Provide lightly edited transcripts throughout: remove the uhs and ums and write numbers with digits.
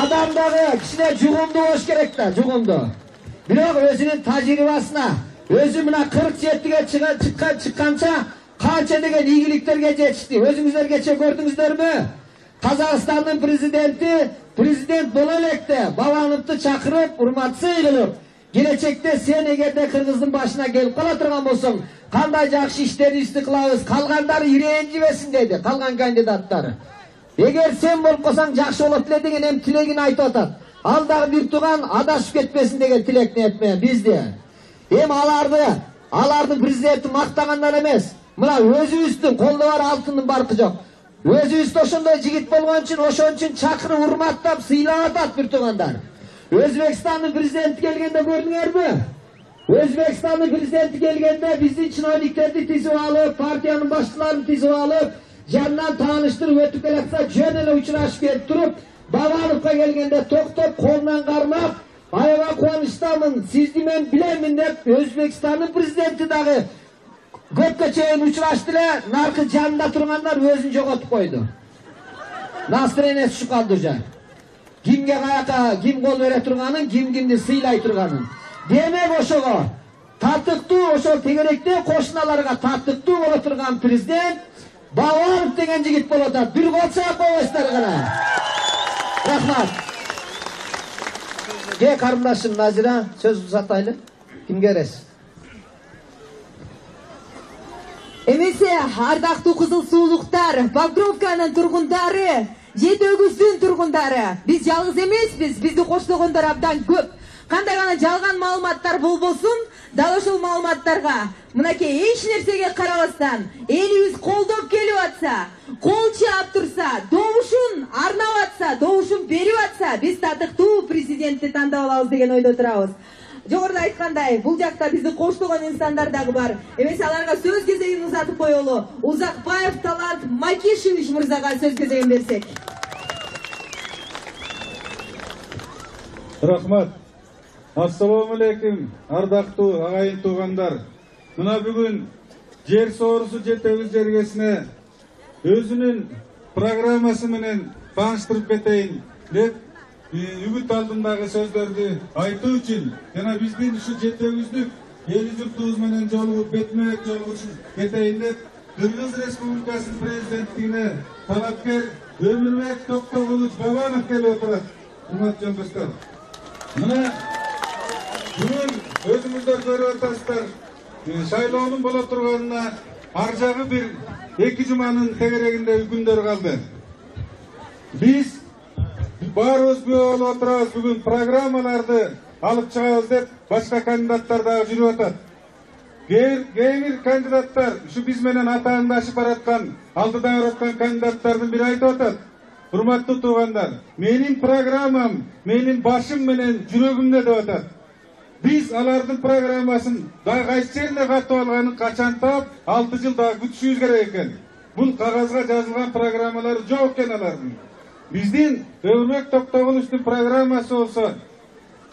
Адам дагы кичине жугумду болуш керек да, жугумду. Бирок өзүнүн тажрыйбасына, өзү мына 47-ге чыкканча канча деген ийгиликтерге жетишти. Өзүңүздөр кече көрдүңүздөрмү? Казакстандын президенти президент боло электе Бабановду чакырып, урматсый кылып, келечекте сен эгерде Кыргыздын башына келип кала турган болсоң, кандай жакшы иштерибизди кылабыз, калгандары иренжибесин деди, калган кандидаттар. Эгер сен болуп калсаң жакшы болот эле деген эми тилегин айтып атат. Ал дагы бир туган адашып кетпесин деген тилек ниет бизде. Эми алардын президенти мактагандан эмес, мына өзүбүздүн колдо бар алтындын баркы жок. Өзүбүз ошондой жигит болгон үчүн ошон үчүн чакырып урматтап сыйлап атат бир тугандар. Өзбекстандын президенти келгенде көрдүңөрбү? Өзбекстандын президенти келгенде биздин чиновниктерди тизип алып, партиянын башчыларын тизип алып, жанынан тааныштырып өтүп келатса, жөн эле учурашып келип туруп, Бабановго келгенде токтоп, колунан кармап, аябай кубанычтамын, сизди мен билемин деп, Өзбекстандын президенти дагы көпкө чейин учурашты эле, наркы жанында тургандар өзүн жоготуп койду. Настроение түшүп калды уже. Кимге каяка, ким кол бере турганын, кимди сыйлай турганын. Демек ошого тартыктуу, ошол тегеректе кошуналарга тартыктуу боло турган президент Бабанов деген жигит болуп атат. Бир кол чаап койбойсуздар гана. Рахмат. Карындашым Назира, сөз узатайлы. Кимге бересиз? Эмесе, ардактуу кызыл суулуктар, Покровканын тургундары, Жети Өгүздүн тургундары, биз жалгыз эмеспиз, бизди коштогондор абдан көп. Кандай гана жалган маалыматтар болбосун, дал ошол маалыматтарга мынакей эч нерсеге карабастан элибиз колдоп келип атса, кол чаап турса, добушун арнап атса, добушун берип атса, биз татыктуу президентти тандап алабыз деген ойдо турабыз. Жогоруда айткандай, бул жакта бизди коштогон инсандар дагы бар. Эмесе аларга сөз кезегин узатып коелу. Узакбаев Талант Макишевич мырзага сөз кезегин берсек. Рахмат. Ассаламу алейкум, ардактуу агайын туугандар. Мына бүгүн жер соорусу Жети Өгүз жергесине өзүнүн программасы менен тааныштырып кетейин деп үгүт алдындагы сөздөрдү айтуу үчүн жана биздин ушу Жети Өгүздүк эл журтубуз менен жолугуп бетме-бет жолугушуп кетейин деп Кыргыз Республикасынын президенттигине талапкер Өмүрбек Токтогулович Бабанов келип отурат. Урматтуу жолдоштор, мына бүгүн өзүңүздөр көрүп атасыздар, шайлоонун боло турганына ар жагы бир 2 жуманын тегерегинде күндөр калды. Биз баарыбыз күбө болуп отурабыз, бүгүн программаларды алып чыгабыз деп башка кандидаттар дагы жүрүп атат. Кээ бир кандидаттар ушу биз менен атаандашып бараткан, алдыда бараткан кандидаттардын бири айтып атат: урматтуу туугандар, менин программам менин башым менен жүрөгүмдө деп атат. Биз алардын программасын дагы кайсы жерине катып алганын качан таап, 6 жыл дагы күтүшүбүз керек экен. Бул кагазга жазылган программалары жок экен алардын. Биздин Өмүрбек Токтогуловичтун программасы болсо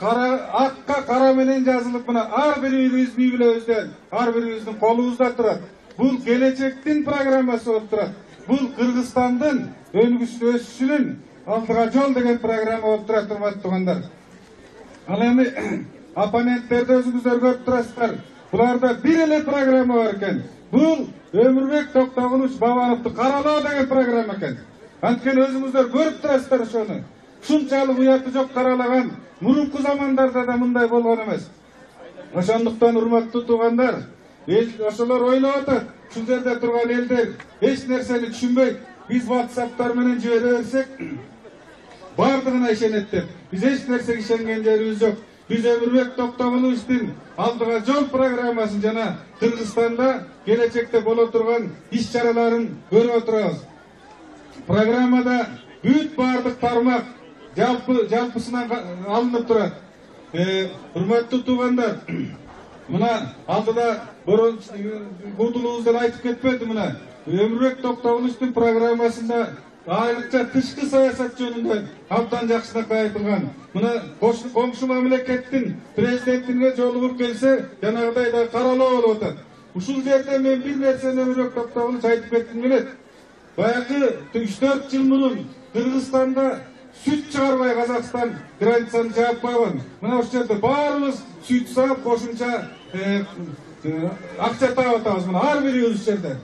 акка кара менен жазылып, мына ар бирибиздин үй бүлөбүздөн, ар бирибиздин колубузда турат. Бул келечектин программасы болуп турат. Бул Кыргызстандын өсүшүнүн алдыга жол деген программа болуп турат, урматтуу туугандар. Ал эми оппоненттерди өзүңүздөр көрүп турасыздар. Буларда бир эле программа бар экен. Бул Өмүрбек Токтогулович Бабановду каралоо деген программа экен. Анткени өзүңүздөр көрүп турасыздар ошону. Ушунчалык уяты жок каралаган мурунку замандарда да мындай болгон эмес. Ошондуктан урматтуу туугандар, эл ошолор ойлоп атат, ушул жерде турган элдер эч нерсени түшүнбөйт. Биз WhatsApp'тар менен жибере берсек, бардыгына ишенет деп. Биз эч нерсеге ишенген жерибиз жок. Биз Өмүрбек Токтогуловичтин алдыга жол программасын жана Кыргызстанда келечекте боло турган иш-чараларын көрүп отурабыз. Программада бүт бардык тармак жалпысынан алынып турат. Урматтуу туугандар, мына алдыда Кутулуубуздан айтып кетпеди, мына Өмүрбек Токтогуловичтун программасында айрыкча тышкы саясат жөнүндө абдан жакшынакай айтылган. Мына коңшу мамлекеттин президентине жолугуп келсе, жанагыдай да каралоо болуп атат. Ушул жерде мен бир нерсени Өмүрбек Токтогулович айтып кетким келет. Баягы 3-4 жыл мурун Кыргызстанда сүт чыгарбай Кыргызстан границаны жаап койгон. Мына ушул жерде баарыбыз сүт саап кошумча акча таап атабыз. Мына ар бирибиз ушул жерде.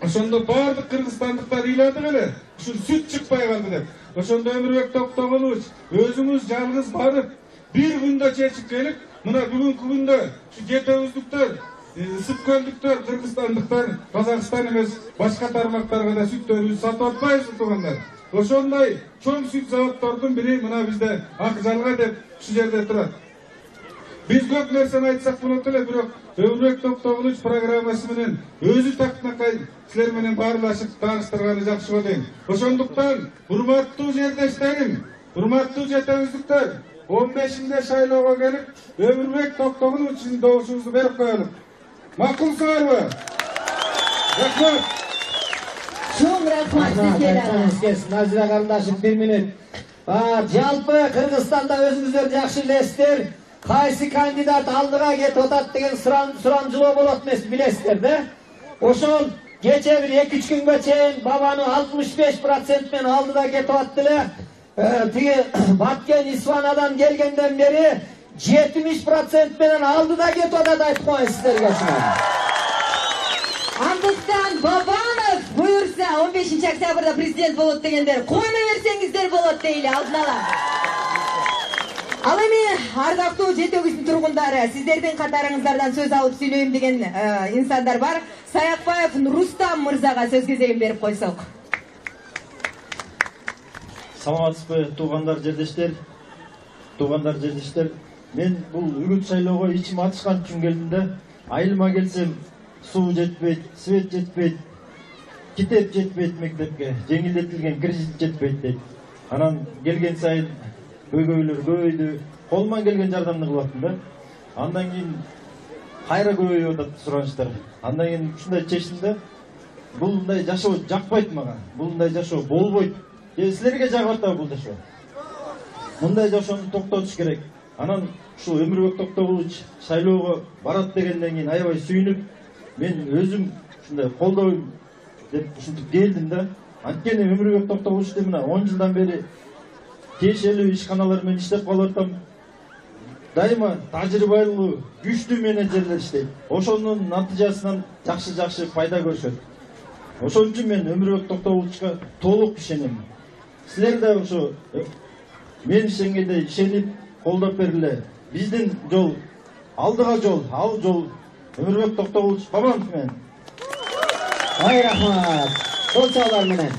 Ошондо баардык кыргызстандыктар ыйлады беле, ушул сүт чыкпай калды деп. Ошондо Өмүрбек Токтогулович өзүңүз жалгыз барып, бир күндө чечип келип, мына бүгүнкү күндө ушу жетөөбүздүктөр, ысык көлдүктөр, кыргызстандыктар, Казакстан эмес, башка тармактарга да сүттөрүбүздү сатып атпайбызбы туугандар? Ошондой чоң сүт заводдордун бири мына бизде Ак Жалга деп ушул жерде турат. Биз көп нерсени айтсак болот эле, бирок Өмүрбек Токтогулович программасы менен өзү тактынакай силер менен баарлашып тааныштырганы жакшы болот дейм. Ошондуктан урматтуу жердештерим, урматтуу жетөөбүздүктөр, 15-нде шайлоого келип, Өмүрбек Токтогуловичтин добушубузду берип коелук. Макулсуңарбы? Рахмат. Чоң рахмат сизге. Назира карындашым 1 минут. Жалпы Кыргызстанда өзүңүздөр жакшы билесиздер, кайсы кандидат алдыга кетип атат деген сурамжылоо болот эмес, билесиздер да? Ошол кече бир 2-3 күнгө чейин бабаны 65% менен алдыда кетип атты эле. Тиги Баткен Исфанадан келгенден бери 70% менен алдыда кетип атат, айтып коеюн сиздерге. Андыктан Бабанов буюрса 15 октябрда президент болот дегендер койно берсеңиздер болот дейли алдын ала. Ал эми ардактуу жетөөбүздүн тургундары, сиздердин катарыңыздардан сөз алып сүйлөйм деген инсандар бар. Саякбаев Рустам мырзага сөз кезегин берип койсок. Саламатсызбы туугандар, жердештер. Мен бул үгүт шайлоого ичим атышкан үчүн келдим да. Айылыма келсем, суу жетпейт, свет жетпейт, китеп жетпейт мектепке, жеңилдетилген кредит жетпейт дейт. Анан келген сайын көйгөйлөр көбөйдү, колуман келген жардамды кылып да. Андан кийин кайра көбөйүп атат суранычтар. Андан кийин ушундай чечтим да. Булундай жашоо жакпайт мага. Булундай жашоо болбойт. Силерге жагып атабы бул жашоо? Мындай жашоону токтотуш керек. Анан ушул Өмүрбек Токтогулович шайлоого барат дегенден кийин аябай сүйүнүп, мен өзүм ушундай колдойм деп ушинтип келдим да. Анткени Өмүрбек Токтогуловичти мына 10 жылдан бери тиешелүү ишканалар менен иштеп калып атам. Дайыма тажрыйбалуу, күчтүү менеджерлер иштейт. Ошонун натыйжасынан жакшы пайда көрүшөт. Ошон үчүн мен Өмүрбек Токтогуловичка толук ишенем. Силер да ошо мен ишенгендей ишенип колдоп бергиле. Биздин жол алдыга жол, ал жол Өмүрбек Токтогулович Бабанов менен. Ай рахмат. Колчалар менен.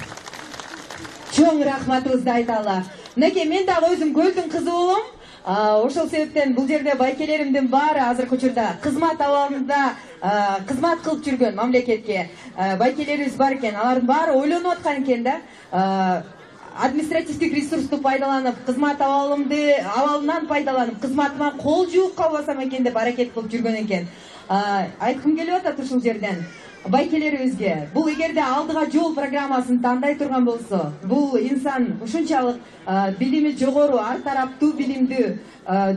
Чоң рахматыбызды айталы. Мынакей мен дагы өзүм көлдүн кызы болом. Ошол себептен бул жерде байкелеримдин баары азыркы учурда кызмат абалында кызмат кылып жүргөн мамлекетке байкелерибиз бар экен. Алардын баары ойлонуп аткан экен да. Административдик ресурсту пайдаланып, кызмат абалынан пайдаланып, кызматыма кол жууп калбасам экен деп аракет кылып жүргөн экен. Айткым келип атат ушул жерден байкелерибизге. Бул эгерде алдыга жол программасын тандай турган болсо, бул инсан ушунчалык билими жогору, ар тараптуу билимдүү,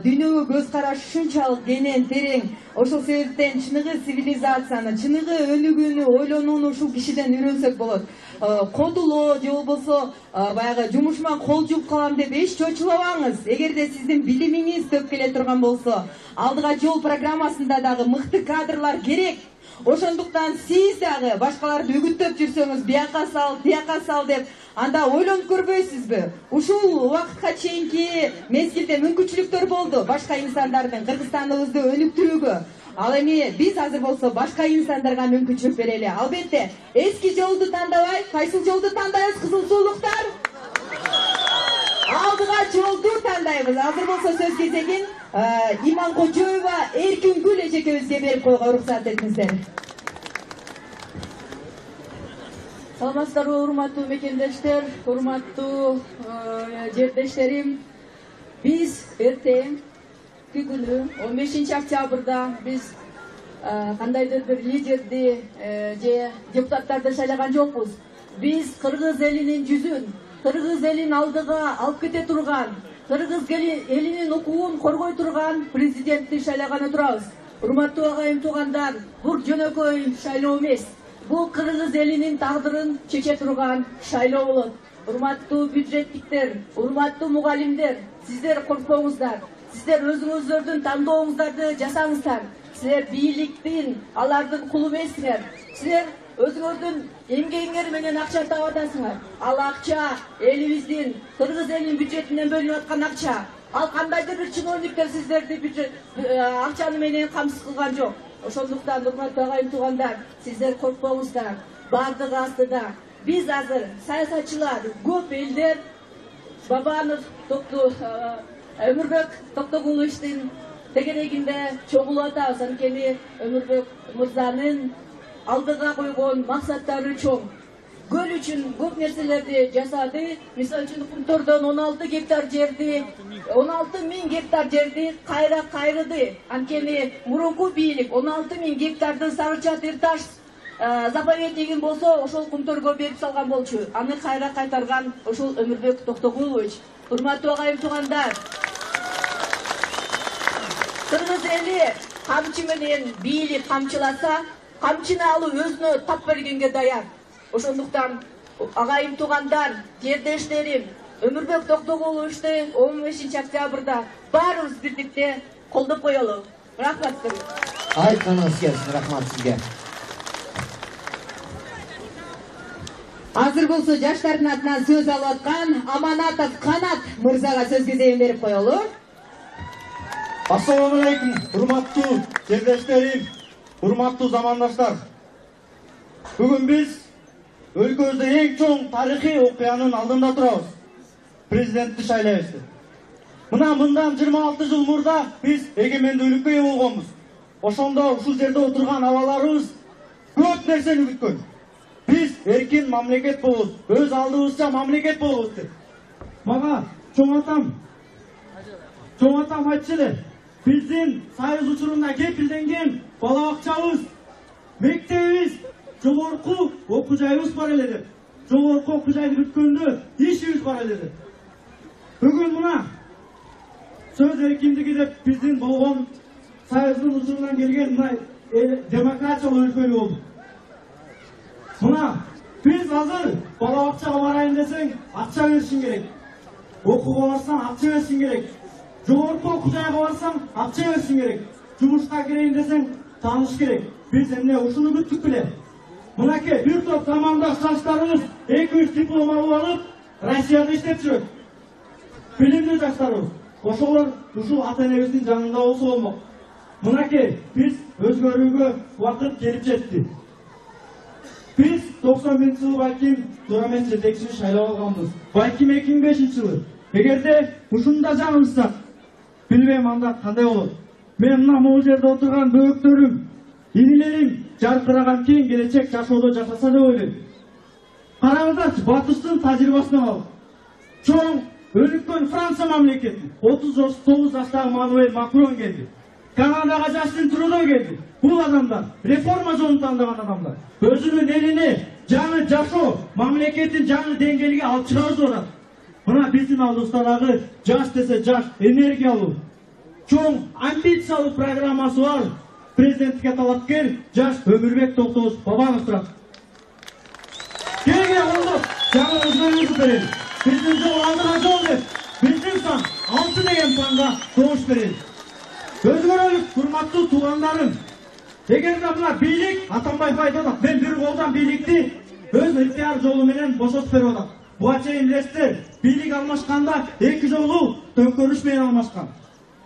дүйнөгө көз карашы ушунчалык кенен, терең. Ошол себептен чыныгы цивилизацияны, чыныгы өнүгүүнү, ойлонууну ушул кишиден үйрөнсөк болот. Кодулоо же болбосо баягы жумушума кол жууп калам деп эч чочулабаңыз. Эгерде сиздин билимиңиз төп келе турган болсо, алдыга жол программасында дагы мыкты кадрлар керек. Ошондуктан сиз дагы башкаларды үгүттөп жүрсөңүз, бияка сал, тияка сал деп, анда ойлонуп көрбөйсүзбү? Ушул убакытка чейинки мезгилде мүмкүнчүлүктөр болду башка инсандардын Кыргызстаныбызды өнүктүрүүгө. Ал эми биз азыр болсо башка инсандарга мүмкүнчүлүк берели. Албетте, эски жолду тандабай, кайсыл жолду тандайбыз, кызыл суулуктар? Алдыга жолду тандайбыз. Азыр болсо сөз кезегин Иманкожоева Эркингүл эжекебизге берип койгонго уруксат этиңиздер. Саламатсыздарбы, урматтуу мекендештер, урматтуу жердештерим. Биз эртең күнү 15 октябрда биз кандайдыр бир лидерди же депутаттарды шайлаган жокпуз. Биз кыргыз элинин жүзүн, кыргыз элин алдыга алып кете турган, кыргыз элинин укугун коргой турган президентти шайлаганы турабыз. Урматтуу агайым туугандар, бул жөнөкөй шайлоо эмес. Бул кыргыз элинин тагдырын чече турган шайлоо болот. урматтуу бюджеттиктер, урматтуу мугалимдер, сиздер коркпоңуздар. Сиздер өзүңүздөрдүн тандооңуздарды жасаңыздар. Силер бийликтин, алардын кулу эмессиңер. Силер өзүңөрдүн эмгегиңер менен акча таап атасыңар. Ал акча элибиздин, кыргыз элинин бюджетинен бөлүнүп аткан акча. Ал кандайдыр бир чиновниктер сиздерди бюджет акчаны менен камсыз кылган жок. Ошондуктан урматтуу агайын туугандар, сиздер коркпоңуздар. Бардыгы астыда. Биз азыр саясатчылар, көп элдер Бабанов, Өмүрбек Токтогуловичтин тегерегинде чогулуп атабыз. Анткени Өмүрбек мырзанын алдыга койгон максаттары чоң. Көл үчүн көп нерселерди жасады. Мисалы үчүн Кумтордон 16 гектар жерди, 16.000 гектар жерди кайрыды. Анткени мурунку бийлик 16.000 гектарды Сары Чатыр таш заповедниги болсо, ошол Кумторго берип салган болчу. Аны кайра кайтарган ошол Өмүрбек Токтогулович. Урматтуу агайын туугандар, кыргыз эли камчы менен бийлик камчыласа, камчыны алып өзүнө тап бергенге даяр. Ошондуктан агайын туугандар, жердештерим, Өмүрбек Токтогуловичти 15 октябрда баарыбыз бирдикте колдоп коелу. Рахмат сизге. Айтканыңыз келсин, рахмат сизге. Азыр болсо жаштардын атынан сөз алып аткан Аманатов Канат мырзага сөз кезегин берип коелу. Ассаламу алейкум, урматтуу жердештерим, урматтуу замандаштар. Бүгүн биз өлкөбүздө эң чоң тарыхый окуянын алдында турабыз. Президентти шайлайбыз. Мына мындан 26 жыл мурда биз эгемендүүлүккө ээ болгонбуз. Ошондо ушул жерде отурган абаларыбыз көп нерсени күткөн. Биз эркин мамлекет болобуз, өз алдыбызча мамлекет болобуз деп. Мага чоң атам айтчу эле, биздин союз учурунда кепилденген бала бакчабыз, мектебибиз, жогорку окуу жайыбыз бар эле деп. Жогорку окуу жайды бүткөндө ишибиз бар эле деп. Бүгүн мына сөз эркиндиги деп биздин болгон союздун учурунан келген мына демократиялык өлкө болдук. Мына биз азыр бала бакчага барайын десең акча беришиң керек. Окууга барсаң акча беришиң керек. Жогорку окуу жайга барсаң акча беришиң керек. Жумушка кирейин десең тааныш керек. Биз эмне ушуну күттүк беле? Мынакей бир топ замандаш жаштарыбыз 2-3 диплом алып алып Россияда иштеп жүрөт. Билимдүү жаштарыбыз. Ошолор ушул ата энебиздин жанында болсо болмок. Мынакей биз өзгөрүүгө убакыт келип жетти. Biz 91 yılı balkim Duramet жетекчи шайлап алганбыз. Балким 2005 жылы. Эгерде ушунда жаңылышсак, билбейм анда кандай болот. Мен мына могу жерде отурган бөөктөрүм, инилерим жаркыраган кең келечек жашоодо жашаса деп ойлойм. Караңыздарчы, батыштын тажрыйбасынан алып. Чоң өнүккөн Франция мамлекети 39 жаштагы Мануэль Макрон келди. Канадага Жастин Трудо келди. Бул адамдар реформа жолун тандаган адамдар. Өзүнүн элине жаңы жашоо, мамлекеттин жаңы деңгээлге алып чыгабыз деп атат. Мына биздин алдыбызда дагы жаш десе жаш, энергиялуу, чоң амбициялуу программасы бар президенттикке талапкер жаш Өмүрбек Токтогулович Бабанов турат. Келге колдоп жаңы өзгөрүүбүздү берели. Биздин жол алдыга жол деп, биздин сан 6 деген санга добуш берели. Өзгөрөлүк, урматтуу туугандарым. Эгерде мына бийлик Атамбаев айтып атат, мен бир колдан бийликти өз ыктыяр жолу менен бошотуп берип атат. Буга чейин билесиздер, бийлик алмашканда 2 жолу төңкөрүш менен алмашкан.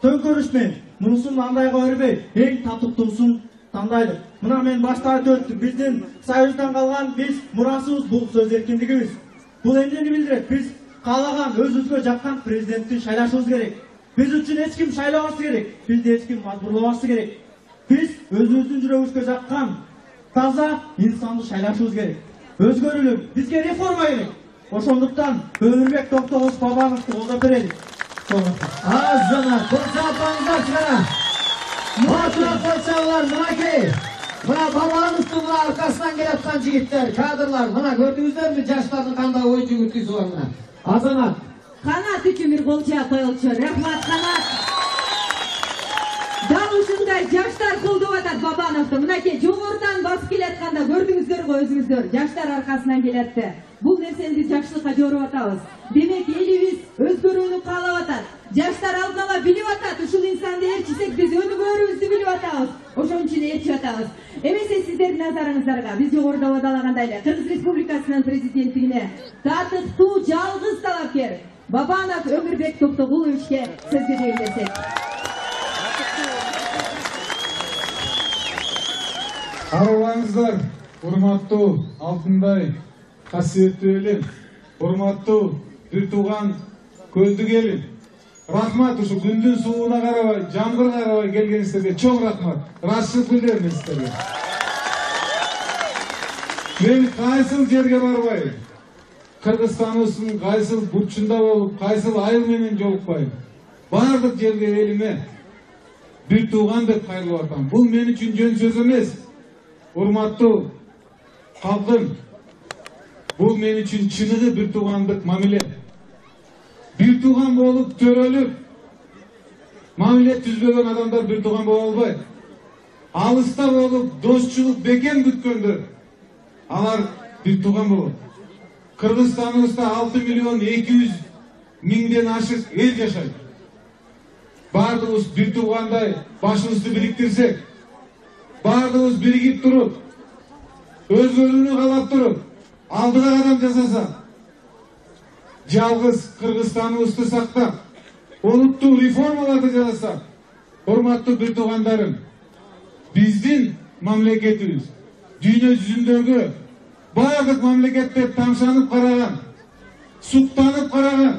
Төңкөрүш менен. Мунусун андайга бербей, эң татыктуусун тандайлы. Мына мен башта айтып өттүм, биздин союздан калган биз мурасыбыз бул сөз эркиндигибиз. Бул эмнени билдирет? Биз каалаган өзүбүзгө жаккан президентти шайлашыбыз керек. Биз үчүн эч ким шайлабасы керек. Бизди эч ким мажбурлабасы керек. Биз өзүбүздүн жүрөгүбүзгө жаккан таза инсанды шайлашыбыз керек. Өзгөрүлүк, бизге реформа керек. Ошондуктан Өмүрбек Токтогулович Бабановду колдоп берели. Азына көрсөтөңүздөр чыгара. Матура койсоңуздар, мынакей. Мына Бабановдун аркасынан келаткан жигиттер, кадрлар, мына көрдүңүздөрбү жаштардын кандай ой жүгүртүүсү бар мына. Азамат Канат үчүн бир кол жаап коелучу. Рахмат Канат. Дал ушундай жаштар колдоп атат Бабановду. Мынакей жогорудан басып келатканда көрдүңүздөр го өзүңүздөр. Жаштар аркасынан келатты. Бул нерсени биз жакшылыкка жоруп атабыз. Демек элибиз өзгөрүүнү каалап атат. Жаштар алдын ала билип атат. Ушул инсанды ээрчисек биз өнүгөрүбүздү билип атабыз. Ошон үчүн ээрчип атабыз. Эмесе сиздердин назарыңыздарга биз жогоруда абадалагандай эле Кыргыз Республикасынын президенттигине татыктуу жалгыз талапкер Бабанов Өмүрбек Токтогуловичке сөз бере берсек. Аралаңыздар, урматтуу Алтындай касиеттүү элим, урматтуу бир тууган көздүк элим. Рахмат, ушу күндүн сууна карабай, жамгырга карабай келгениңиздерге чоң рахмат. Ырашчылык билдирем сиздерге. Мен кайсыл жерге барбай, Кыргызстаныбыздын кайсыл бурчунда болуп, кайсыл айыл менен жолукпай, бардык жерге элиме бир тууган деп кайрылып атам. Бул мен үчүн жөн сөз эмес. Урматтуу калкым, бул мен үчүн чыныгы бир туугандык мамиле. Бир тууган болуп төрөлүп, мамиле түзбөгөн адамдар бир тууган боло албайт. Алыста болуп досчулук бекем күткөндөр, алар бир тууган болот. Кыргызстаныбызда 6.200.000 ашык эл жашайт. Бардыгыбыз бир туугандай башыбызды бириктирсек, бардыгыбыз биригип туруп, өзгөрүүнү каалап туруп, алдыга кадам жасасак, жалгыз Кыргызстаныбызды сактап, улуттук реформаларды жасасак, урматтуу бир туугандарым, биздин мамлекетибиз дүйнө жүзүндөгү бардык мамлекеттер тамшанып караган, суктанып караган,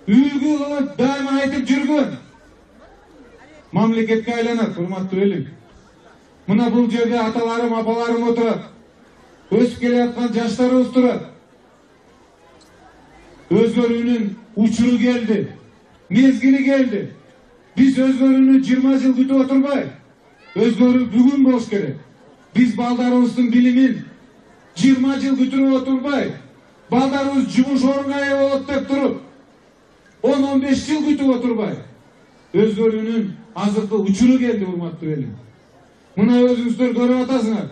үлгү кылып дайыма айтып жүргөн мамлекетке айланат, урматтуу элим. Мына бул жерде аталарым, апаларым отурат. Өсүп келе жаткан жаштарыбыз турат. Өзгөрүүнүн учуру келди. Мезгили келди. Биз өзгөрүүнү 20 жыл күтүп отурбай, өзгөрүү бүгүн болуш керек. Биз балдарыбыздын билимин 20 жыл күтүп отурбай, балдарыбыз жумуш орунга ээ болот деп туруп, 10-15 жыл күтүп отурбай, өзгөрүүнүн азыркы учуру келди, урматтуу элим. Мына өзүңүздөр көрүп атасыңар.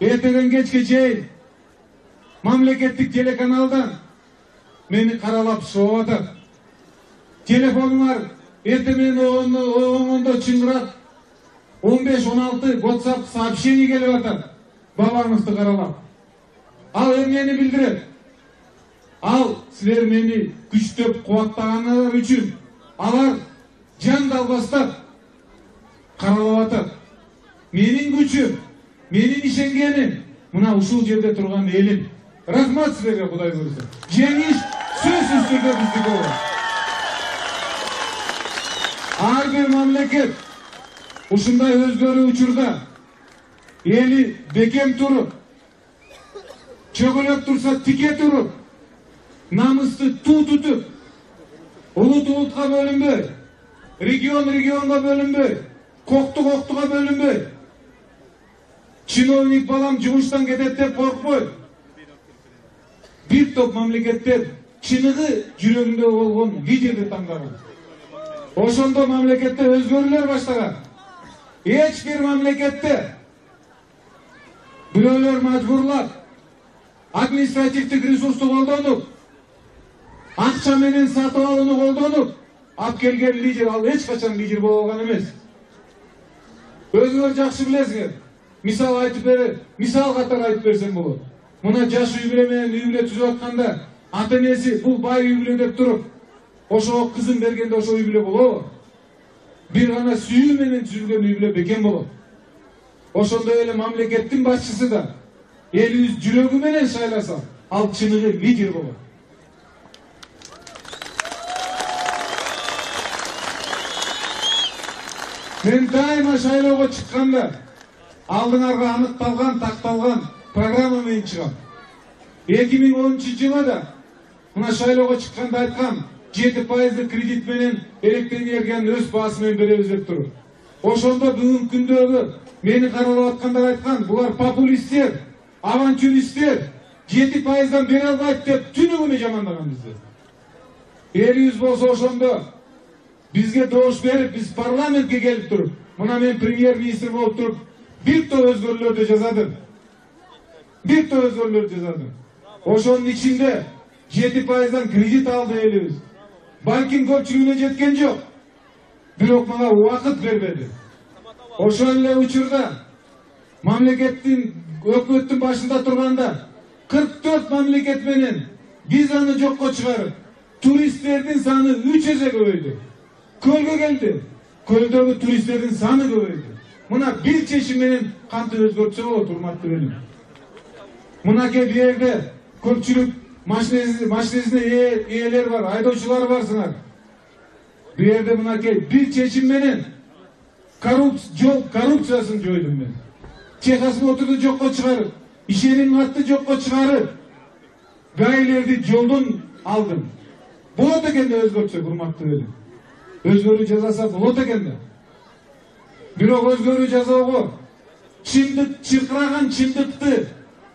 Эртеден кечке чейин мамлекеттик телеканалдан мени каралап шоу атат. Телефонуңар эрте менен оңондо чыңгырап 15-16 WhatsApp сообщение келип атат. Бабановду каралап. Ал эмнени билдирет? Ал силер мени күчтөп кубаттаганыңар үчүн алар жан далбастап каралап атат. Менин күчүм, менин ишенгеним мына ушул жерде турган элим. Рахмат силерге, Кудай буйрса. Жеңиш сөзсүз түрдө биздики болот. Ар бир мамлекет ушундай өзгөрүү учурда эли бекем туруп, чөгөлөп турса тике туруп, намысты туу тутуп, улут улутка бөлүнбөй, регион регионго бөлүнбөй, кокту коктуга бөлүнбөй, чиновник балам жумуштан кетет деп коркпойт. Бир топ мамлекеттер чыныгы жүрөгүндө болгон лидерди тандаган. Ошондо мамлекетте өзгөрүүлөр баштаган. Эч бир мамлекетте бирөөлөр мажбурлап, административдик ресурсту колдонуп, акча менен сатып алууну колдонуп, алып келген лидер ал эч качан лидер боло алган эмес. Өзүңөр жакшы билесиңер. Мисал катары айтып берсем болот. Мына жаш үй бүлө менен үй бүлө түзүп атканда ата энеси бул бай үй бүлө деп туруп, ошого кызын бергенде ошо үй бүлө болобу? Бир гана сүйүү менен түзүлгөн үй бүлө бекем болот. Ошондой эле мамлекеттин башчысы да элибиз жүрөгү менен шайласа, ал чыныгы лидер болот. Мен дайыма шайлоого чыкканда алдыңарга аныкталган, такталган программа менен чыгам. 2010-жылы да мына шайлоого чыкканда айткам, 7% кредит менен электроэнергиянын өз баасы менен беребиз деп туруп. Ошондо бүгүнкү күндөгү мени каралап аткандар айткан, булар популисттер, авантюристтер, 7%дан бере албайт деп түнү күнү жамандаган бизди. Элибиз болсо ошондо бизге добуш берип, биз парламентке келип туруп, мына мен премьер-министр болуп туруп бир топ өзгөрүүлөрдү жазадым. Бир топ өзгөрүүлөрдү жазадым. Ошонун ичинде 7%дан кредит алды элибиз. Балким көпчүлүгүнө жеткен жок. Бирок мага убакыт бербеди. Ошол эле учурда мамлекеттин өкмөттүн башында турганда 44 мамлекет менен визаны жокко чыгарып, туристтердин саны 3 эсе көбөйдү. Көлгө келди. Көлдөгү туристтердин саны көбөйдү. Мына бир чечим менен кантип өзгөртсө болот, урматтуу элим. Мынакей бу жерде көпчүлүк машинесине ээлер бар, айдоочулар барсыңар. Бу жерде мынакей бир чечим менен коррупциясын жойдум мен. Техосмотрду жокко чыгарып, ишеним катты жокко чыгарып, гаилерди жолдон алдым. Болот экен да өзгөртсөк, урматтуу элим. Өзгөрүү жасаса болот экен да. Бирок өзгөрүү жасоого чыркыраган чындыкты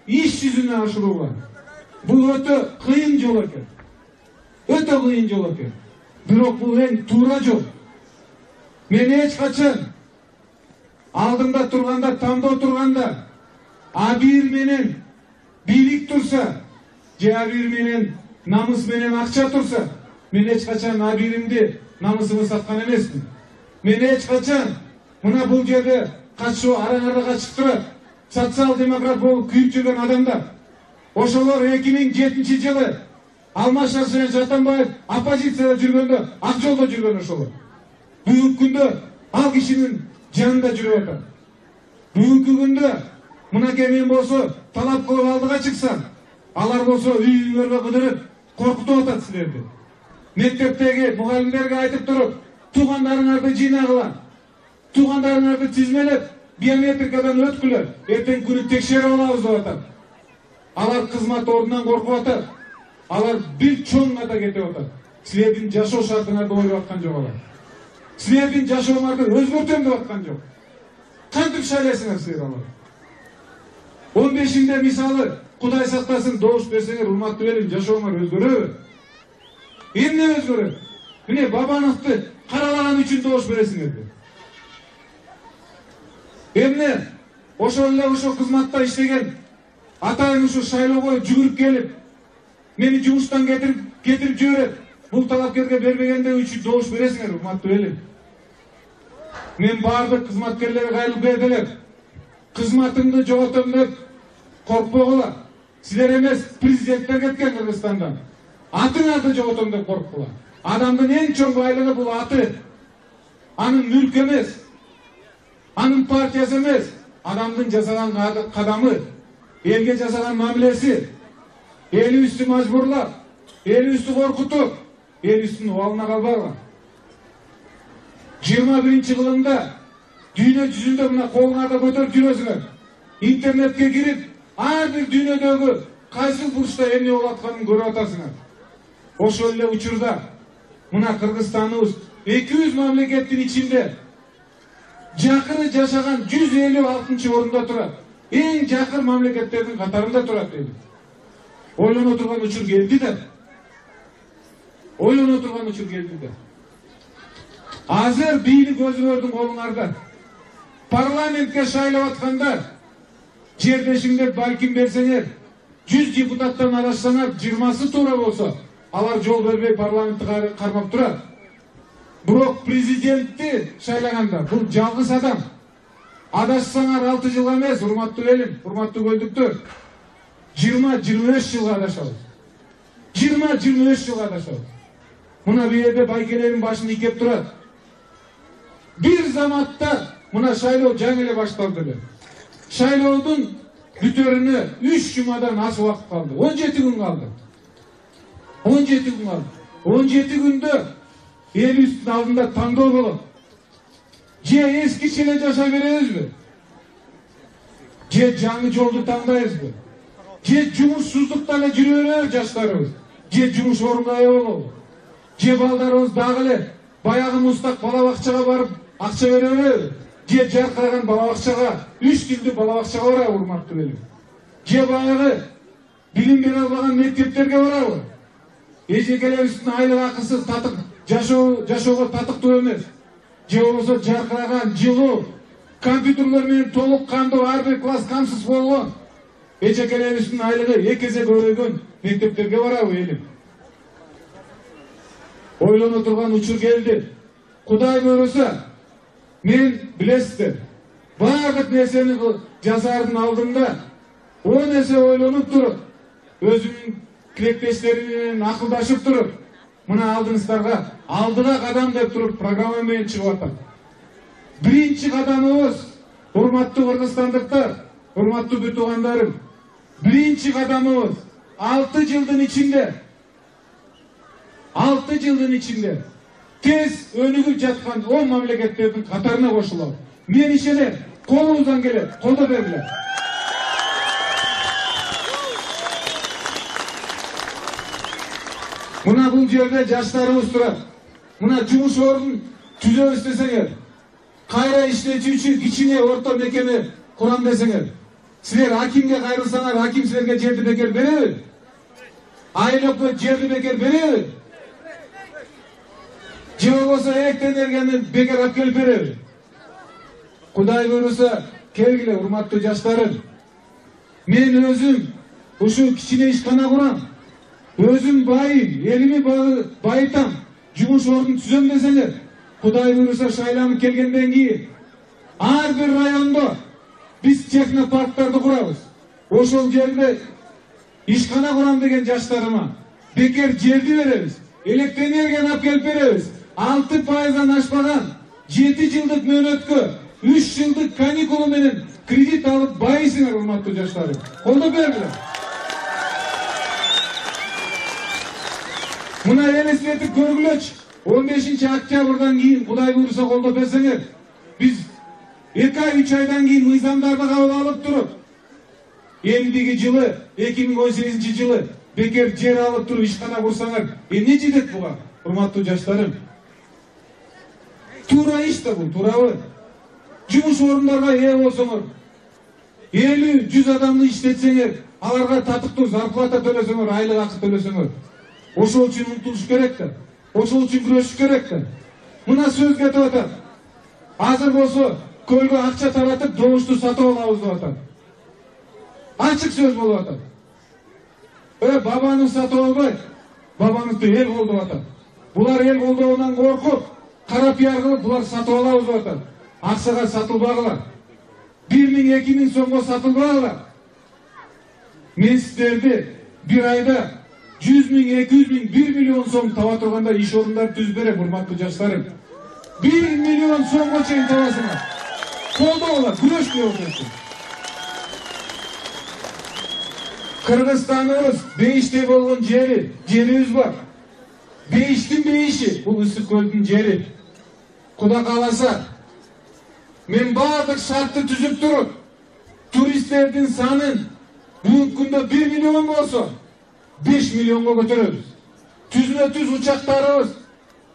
иш жүзүнө ашырууга бул өтө кыйын жол экен. Өтө кыйын жол экен. Бирок бул эң туура жол. Мен эч качан алдымда турганда, тандоо турганда, абийир менен бийлик турса, же абийир менен намыс менен акча турса, мен эч качан абийиримди, намысымды саткан эмесмин. Мен эч качан мына бул жерде катышуу араңарда качып турат, социал-демократ болуп күйүп жүргөн адамдар. Ошолор 2007 жылы Алмашар менен Жатанбаев оппозицияда жүргөндө, ак жолдо жүргөн ошолор. Бүгүнкү күндө ал кишинин жанында жүрүп атат. Бүгүнкү күндө мынакей мен болсо талап кылып алдыга чыксам, алар болсо үйүңөргө кыдырып коркутуп атат силерди. Мектептеги мугалимдерге айтып туруп, туугандарыңарды жыйнагыла, туугандарыңарды тизмелеп, биометрикадан өткүлө, эртең күнү текшерип алабыз деп атат. Алар кызмат ордунан коркуп атат. Алар бир чоң ата кетип атат. Силердин жашоо шартыңарды ойлоп аткан жок алар. Силердин жашооңарды өзгөртөм деп аткан жок. Кантип шайлайсыңар силер алар? 15-inde мисалы Кудай сактасын добуш берсеңер, урматтуу элим, жашооңор өзгөрөбү? Эмне өзгөрөт? Міне Бабановду каралаган үчүн добуш бересиңерби? Эмне ошол эле ошо кызматта иштеген атайын ушу шайлоого жүгүрүп келип, мени жумуштан кетирип жиберет. Бул талапкерге бербегендиги үчүн добуш бересиңер, урматтуу элим. Мен баардык кызматкерлерге кайрылып бердилер. Кызматымды жоготом деп коркпогула. Силер эмес, президенттер кеткен Кыргызстандан. Атыңарды жоготом деп коркпула. Адамдын эң чоң байлыгы бул аты. Анын мүлкү эмес, анын партиясы эмес, адамдын жасаган кадамы, элге жасаган мамилеси, элибизди мажбурлап, элибизди коркутуп, элибиздин убалына калбагыла. 21-кылымда дүйнө жүзүндө мына колуңарда көтөрүп жүрөсүңөр. Интернетке кирип, ар бир дүйнөдөгү кайсы бурчта эмне болуп атканын көрүп атасыңар. Ошол эле учурда мына Кыргызстаныбыз 200 мамлекеттин ичинде жакыры жашаган 156 орунда турат. Эң жакыр мамлекеттердин катарында турат дейт. Ойлоно турган учур келди да. Ойлоно турган учур келди да. Азыр бийлик өзүңөрдүн колуңарда. Парламентке шайлап атканда жердешиңдер балким берсеңер, 100 депутаттан арашсаңар, 20сы туура болсо, алар жол бербей парламентти кармап турат. Бирок президентти шайлаганда бул жалгыз адам. Адашсаңар 6 жылга эмес, урматтуу элим, урматтуу көлдүктөр. 20-25 жылга адашабыз. 20-25 жылга адашабыз. Мына бу жерде байкелердин башын ийкеп турат. Бир заматта мына шайлоо жаңы эле башталды эле. Шайлоодун бүтөрүнө 3 жумадан аз убакыт калды. 17 күн калды. 17 күн калды. 17 күндө элибиздин алдында тандоо болот. Же эскиче эле жашай беребизби? Же жаңы жолду тандайбызбы? Же жумушсуздукта эле жүрө беребиз жаштарыбыз? Же жумуш орунга ээ болобу? Же балдарыбыз дагы эле баягы мустак бала бакчага барып акча бере береби? Же жаркыраган бала бакчага, 3 тилдүү бала бакчага барабы, урматтуу элим? Же баягы билим бере албаган мектептерге барабы? Эжекелерибиздин айлык акысы татык жашоого татыктуу эмес. же болбосо жаркыраган, жылуу, компьютерлер менен толук кандуу ар бир класс камсыз болгон эжекелерибиздин айлыгы 2 эсе көбөйгөн мектептерге барабы элим? Ойлоно турган учур келди. Кудай буйруса, мен билесиздер, бардык нерсени жасаардын алдында 10 эсе ойлонуп туруп, өзүмдүн тилектештерим менен акылдашып туруп, мына алдыңыздарга алдыга кадам деп туруп программа менен чыгып атам. Биринчи кадамыбыз, урматтуу кыргызстандыктар, урматтуу бүт туугандарым, биринчи кадамыбыз 6 жылдын ичинде тез өнүгүп жаткан 10 мамлекеттердин катарына кошулабыз. Мен ишенем, колубуздан келет, колдоо бергиле. Мына бул жерде жаштарыбыз турат. Мына жумуш ордун түзөбүз десеңер, кайра иштечүүчү кичине орто мекеме курам десеңер, силер акимге кайрылсаңар, аким силерге жерди бекер береби? Айыл өкмөт жерди бекер береби? Же болбосо электр энергияны бекер алып келип береби? Кудай буйруса, келгиле урматтуу жаштарым. Мен өзүм ушу кичине ишкана курам. Өзүм байым, элими байытам, жумуш ордун түзөм десеңер, Кудай буйруса шайланып келгенден кийин ар бир райондо биз технопарктарды курабыз. Ошол жерде ишкана курам деген жаштарыма бекер жерди беребиз, электр энергияны алып келип беребиз. 6%-дан ашпаган 7 жылдык мөөнөткө 3 жылдык каникулу менен кредит алып байысыңар, урматтуу жаштарым. Колдоо бергиле. Мына элестетип көргүлөчү. 15 октябрдан кийин Кудай буйруса колдоп берсеңер, биз 2-3 айдан кийин мыйзамдарды кабыл алып туруп, эмдиги жылы 2018 жылы бекер жер алып туруп ишкана курсаңар, эмне жетет буга, урматтуу жаштарым? Туура иш да бул, туурабы? Жумуш орундарга ээ болсоңор, 50-100 адамды иштетсеңер, аларга татыктуу зарплата төлөсөңөр, айлык акы төлөсөңөр, ошол үчүн умтулуш керек да. Ошол үчүн күрөшүш керек да. Мына сөз кетип атат. Азыр болсо көлгө акча таратып, добушту сатып алабыз деп атат. Ачык сөз болуп атат. Бабаны сатып албай, бабаңызды эл колдоп атат. Булар эл колдоонан коркуп, кара пиар кылып, булар сатып алабыз деп атат. Акчага сатылбагыла. 1000-2000 сомго сатылбагыла. Мен сиздерди бир айда 100 000, 200 000, 1 миллион сом таба турганда иш орундары түзүп берем, урматтуу жаштарым. 1 миллион сомго чейин табасыңар. Колдоңула, күрөшкү болсун. Кыргызстаныбыз бейиштей болгон жерибиз бар. Бейиштин бейиши, бул Ысык көлдүн жери. Кудай кааласа, мен бардык шартты түзүп туруп, туристтердин санын бүгүнкү күндө 1 миллион болсо, 5 миллионго көтөрөбүз. Түзмө-түз учактарыбыз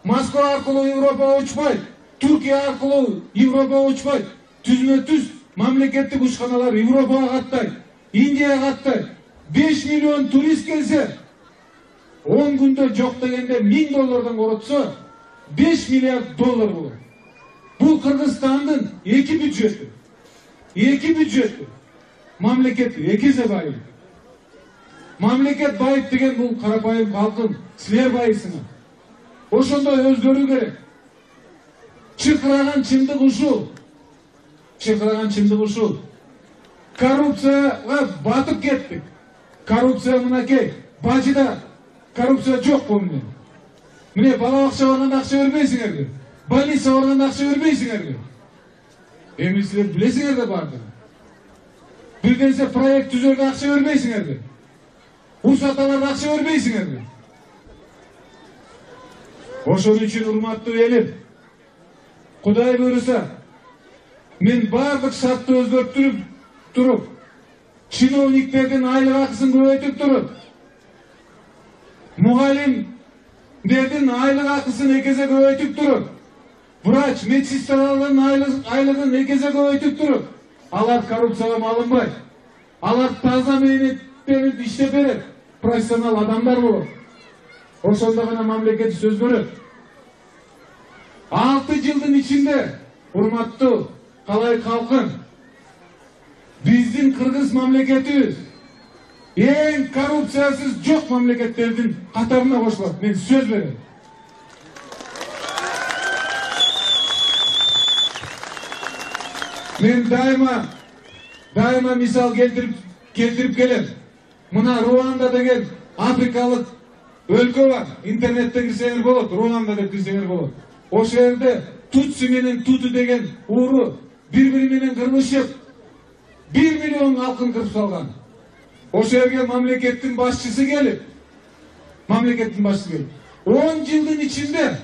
Москва аркылуу Европага учпайт, Түркия аркылуу Европага учпайт. Түзмө-түз мамлекеттик учканалар Европага каттайт, Индияга каттайт. 5 миллион турист келсе, 10 күндө жок дегенде $1000 коротсо, 5 миллиард доллар болот. Бул Кыргызстандын 2 бюджети. 2 бюджети. Мамлекет 2 эсе байып. Мамлекет байып деген бул карапайым калкын, силер байысыңар. Ошондой өзгөрүү керек. Чыкыраган чындык ушул. Чыкыраган чындык ушул. Коррупцияга батып кеттик. Коррупция мынакей, бажыда коррупция жок болду. Міне бала бакча барганда акча бербейсиңерби? Больница барганда акча бербейсиңерби? Эми силер билесиңер да бардыгын. Бир нерсе проект түзөргө акча бербейсиңерби? Урсат аларга акча бербейсиңерби? Ошон үчүн урматтуу элим, Кудай буйруса, мен бардык шартты өзгөртүп туруп, чиновниктердин айлык акысын көбөйтүп туруп, мугалимдердин айлык акысын 2 эсе көбөйтүп туруп, врач, медсестралардын айлыгын 2 эсе көбөйтүп туруп, алар коррупцияга малынбай, алар таза мээнеттенип иштеп берет, профессионал адамдар болот. Ошондо гана мамлекет сөз көрөт. 6 жылдын ичинде урматтуу калайык калкым, биздин кыргыз мамлекетибиз эң коррупциясыз жок мамлекеттердин катарына кошулат. Мен сөз берем. Мен дайыма мисал келтирип келем. Мына Руанда деген африкалык өлкө бар. Интернеттен кирсеңер болот, Руанда деп кирсеңер болот. Ошол жерде Тутси менен Туту деген ууру бири-бири менен кырмышып 1 миллион калкын кырып салган. Ошол жерге мамлекеттин башчысы келип, 10 жылдын ичинде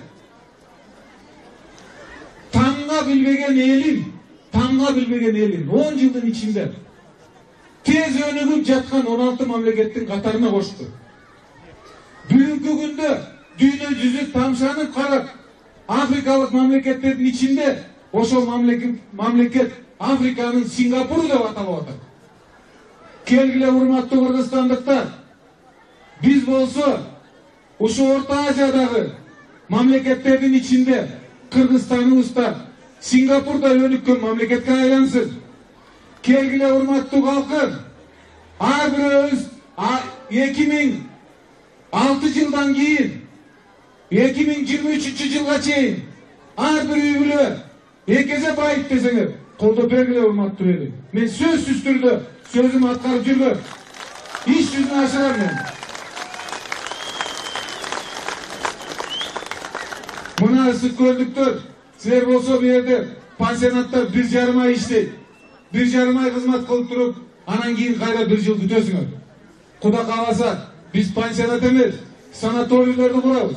таңга билбеген элин 10 жылдын ичинде тез өнүгүп жаткан 16 мамлекеттин катарына кошту. Бүгүнкү күндө дүйнө жүзү тамшанып карап, африкалык мамлекеттердин ичинде ошол мамлекет Африканын Сингапуру деп аталып атат. Келгиле урматтуу кыргызстандыктар, биз болсо ушу Орто Азиядагы мамлекеттердин ичинде Кыргызстаныбызда Сингапурда өнүккөн мамлекетке айлансын. Келгиле урматтуу калкым, ар бирөөбүз 2006 жылдан кийин 2023 жылга чейин ар бир үй бүлө эки эсе байып десеңер колдоп бергиле урматтуу элим. Мен сөзсүз түрдө сөзүм аткарып жүргөм. Иш жүзүнө ашырам мен. Мына ысык көлдүктөр, силер болсо бу жерде пансионаттар 1,5 ай иштейт. 1,5 ай кызмат кылып туруп, анан кийин кайра 1 жыл күтөсүңөр. Кудай кааласа, биз пансионат эмес, санаторийлерди курабыз.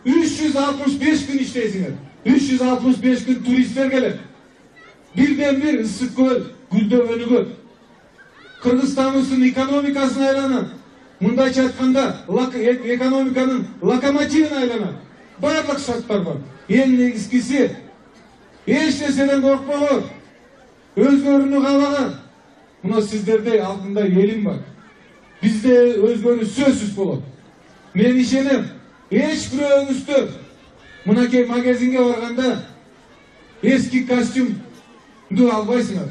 365 күн иштейсиңер. 365 күн туристтер келет. Бирден бир ысык көл гүлдөп өнүгөт. Кыргызстаныбыздын экономикасына айланат. Мындайча айтканда, экономиканын локомотивине айланат. Барлык шарттар бар. Эң негизгиси эч нерседен коркпогон, өзгөрүүнү каабаган. Мына сиздердей алтындай элим бар. Бизде өзгөрүү сөзсүз болот. Мен ишенем, эч бирөөңүздө мынакей магазинге барганда эски костюмду албайсыңар.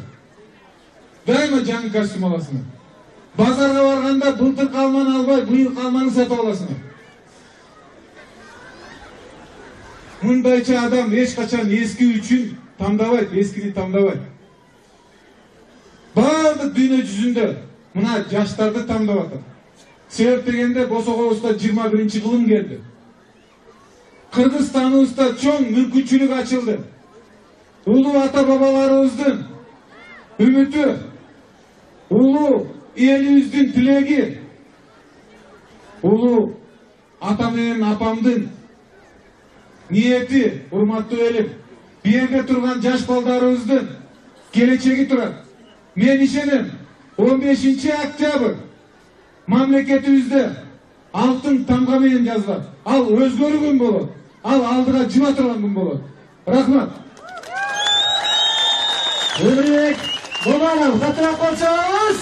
Дайыма жаңы костюм аласыңар. Базарга барганда былтыр калманы албай, быйыл калманы сатып аласыңар. Мындайча адам эч качан эски үчүн тандабайт, эскини тандабайт. Бардык дүйнө жүзүндө мына жаштарды тандап атат. Себеп дегенде босогобузда 21-кылым келди. Кыргызстаныбызда чоң мүмкүнчүлүк ачылды. Улуу ата бабаларыбыздын үмүтү, улуу элибиздин тилеги, улуу ата менен апамдын ниети, урматтуу элим, бу жерде турган жаш балдарыбыздын келечеги турат. Мен ишенем, 15 октябрь мамлекетибизде алтын тамга менен жазылат. Ал өзгөрүү күн болот. Ал алдыга жыба турган күн болот. Рахмат. Өмүрбек Боманов, катыраак болсоңуз.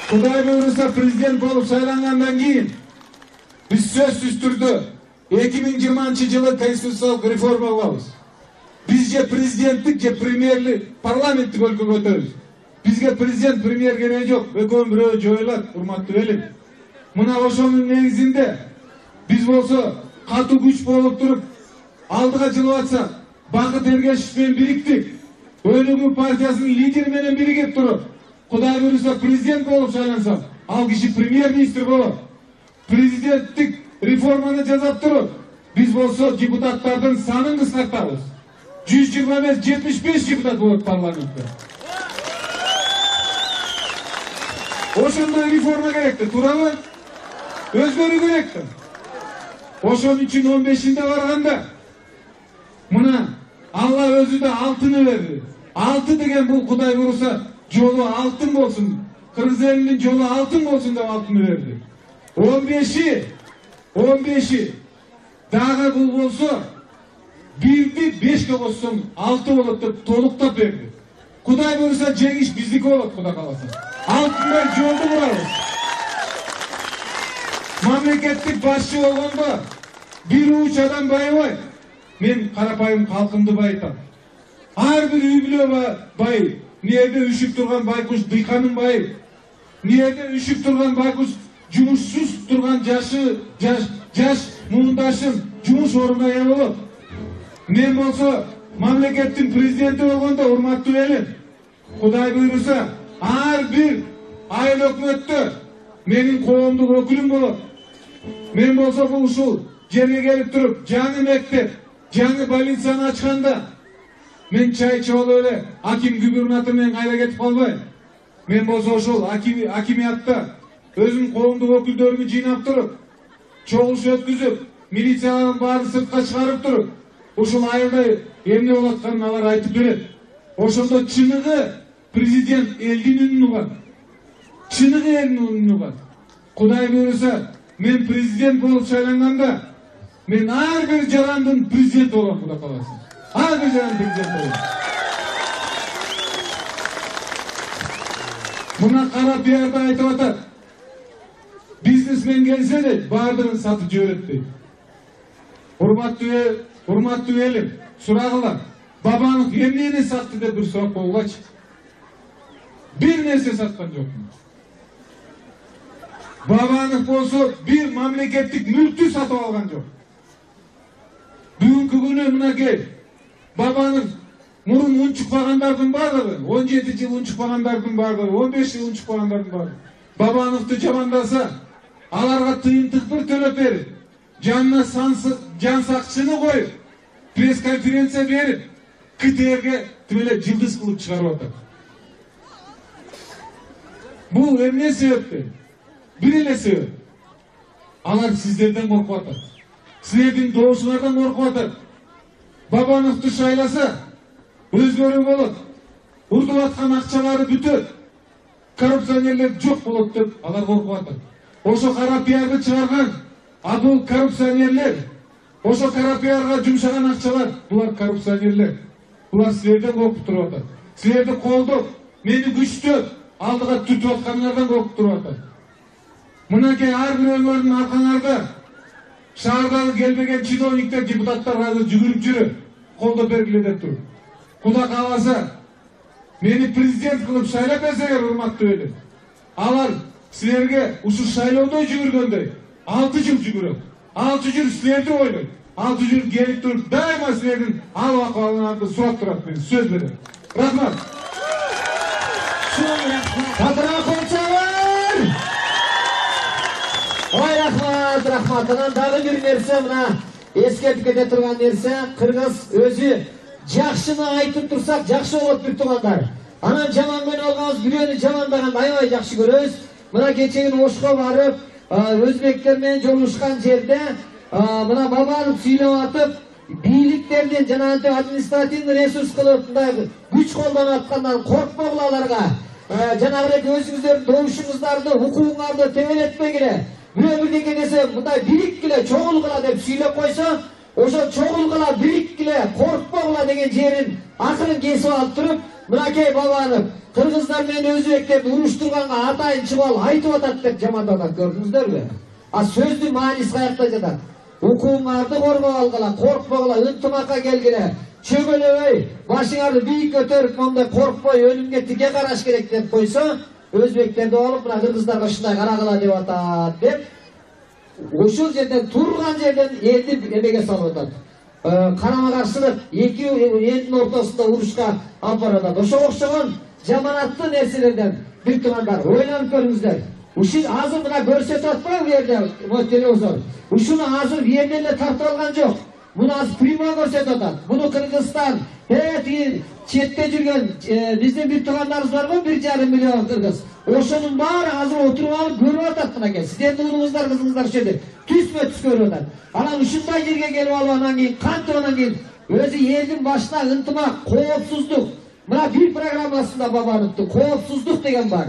Кудай буйруса президент болуп сайлангандан кийин биз сөзсүз түрдө 2020 жылы конституциялык реформа кылабыз. Биз же президенттик, же премьерлик, парламенттик өлкөгө өтөбүз. Бизге президент, премьер кереги жок. Экөөнүн бирөө жоюлат, урматтуу элим. Мына ошонун негизинде биз болсо катуу күч болуп туруп алдыга жылып атсак, Бакыт Эргешев менен бириктик. Өнүгүү партиясынын лидери менен биригип туруп, Кудай буйруса президент болуп сайлансак, ал киши премьер-министр болот. Президенттик реформаны жасап туруп, биз болсо депутаттардын санын кыскартабыз. 120 эмес 75 депутат болот парламентте. Ошондой реформа керек да, туурабы? Өзгөрүү керек да. Ошон үчүн 15-инде барганда мына Алла өзү да алтыны берди. Алты деген бул Кудай буйруса жолу алтын болсун, кыргыз элинин жолу алтын болсун деп алтыны берди. 15 дагы бул болсо 1'ди 5'ке коссоң 6 болот деп толуктап берди. Кудай буйруса жеңиш биздики болот, Кудай кааласа. Алтындай жолду курабыз. мамлекеттик башчы болгондо бир уч адам байыбайт. Мен карапайым калкымды байытам. Ар бир үй бүлө бай. Нерде үшүп турган байкуш дыйканын байы. Нерде үшүп турган байкуш жумушсуз турган жаш муңдашым жумуш ордуна ээ болот. Мен болсо мамлекеттин президенти болгондо, урматтуу элим, Кудай буйруса, ар бир айыл өкмөттө менин коомдук өкүлүм болот. Мен болсо бул ушул жерге келип туруп, жаңы мектеп, жаңы больницаны ачканда мен чай ичип алып эле аким губернатор менен кайра кетип калбайм. Мен болсо ошол акимиятта өзүм коомдук өкүлдөрүмү жыйнап туруп, чогулуш өткүзүп, милициялардын баарын сыртка чыгарып туруп, ушул айылда эмне болуп атканын алар айтып берет. Ошондо чыныгы президент элдин үнүн угат. Чыныгы элдин үнүн угат. Кудай буйруса, мен президент болуп шайланганда, мен ар бир жарандын президенти болом, Кудай кааласа. Ар бир жарандын президенти болом. Мына кара пиарда айтып атат. Бизнесмен келсе де баардыгын сатып жиберет дейт. Урматтуу элим, сурагыла. Бабанов эмнени сатты деп бир сурап койгулачы. Бир нерсе саткан жок. Бабанов болсо бир мамлекеттик мүлктү сатып алган жок. Бүгүнкү күнү мынакей Бабанов мурун унчукпагандардын баардыгы, 17 жыл унчукпагандардын баардыгы, 15 жыл унчукпагандардын баардыгы Бабановду жамандаса, аларга тыйынтык бир төлөп берип, жанына жан сакчыны коюп, пресс-конференция берип, КТРге тимеле жылдыз кылып чыгарып атат. Бул эмне себептен? Бир эле себеп. Алар сиздерден коркуп атат. Силердин добушуңардан коркуп атат. Бабановду шайласа, өзгөрүү болот. Урдуп аткан акчалары бүтөт. Коррупционерлер жок болот деп алар коркуп атат. Ошо кара пиарды чыгарган, бул коррупционерлер. Ошо кара пиарга жумшаган акчалар, булар коррупционерлер. Булар силерден коркуп туруп атат. Силерди колдоп, мени күчтөп, алдыга түртүп атканыңардан коркуп туруп атат. Мынакей ар бир өмүрүн аркаңарда шаардагы келбеген чиновниктер, депутаттар азыр жүгүрүп жүрөт, колдоп бергиле деп туруп. Кудай кааласа, мени президент кылып шайлап берсеңер, урматтуу элим, алар силерге ушул шайлоодо жүгүргөндөй 6 жыл жүгүрөт. 6 жыл силерди ойлойт. 6 жыл келип туруп, дайыма силердин ал акыбалыңарды сурап турат, мен сөз берем. Рахмат. Катыра койчуңар. Ой, рахмат. Анан дагы бир нерсе, мына эскертип кете турган нерсе, кыргыз өзү жакшыны айтып турсак жакшы болот бир туугандар. Анан жаман көңүл алганбыз, бирөөнү жамандаганды аябай жакшы көрөбүз. Мына кечеги Ошко барып, өзбектер менен жолугушкан жерде мына Бабанов сүйлөп атып, бийликтердин жана административный ресурс кылып мындай күч колдонуп аткандан коркпогула аларга. Жанагы өзүңүздөрдүн добушуңуздарды, укугуңарды тебелетпегиле. Бирөө бирдеке десе мындай бириkkиле, чогулгула деп сүйлөп койсо, ошо чогулгула, бириkkиле, коркпогула деген жерин акырын кесип алып туруп, мынакей Бабанов кыргыздар менен өзбектерди уруштурганга атайын чыбал айтып атат деп жамандап атат, көрдүңүздөрбү? Сөздүн мааниси каякта жатат? Укугуңарды коргоп алгыла, коркпогула, ынтымакка келгиле, чөгөлөбөй, башыңарды бийик көтөрүп, мондай коркпой, өлүмгө тике караш керек деп койсо, өзбектерди алып, мына кыргыздарга ушундай карагыла деп атат деп, ушул жерден турган жерден элди эмеге салып атат. Карама каршылык эки элдин ортосунда урушка алып барат. Ошого окшогон жаманаттуу нерселерден бир туугандар, ойлонуп көрүңүздөр. Ушул азыр мына көрсөтүп атпайбы бу жерде, телевизор. Ушуну азыр бу жерден эле тартып алган жок. Муну азыр прямой көрсөтүп атат. Муну Кыргызстан, тиги четте жүргөн биздин бир туугандарыбыз бар го, 1,5 миллион кыргыз. Ошонун баары азыр отуруп алып көрүп атат мынакей. Сиздердин уулуңуздар, кызыңыздар ушул жерде түзмө-түз көрүп атат. Анан ушундай жерге келип алып анан кийин кантип анан кийин өзү элдин башына ынтымак, коопсуздук. Мына бир программасында Бабановдун коопсуздук деген бар.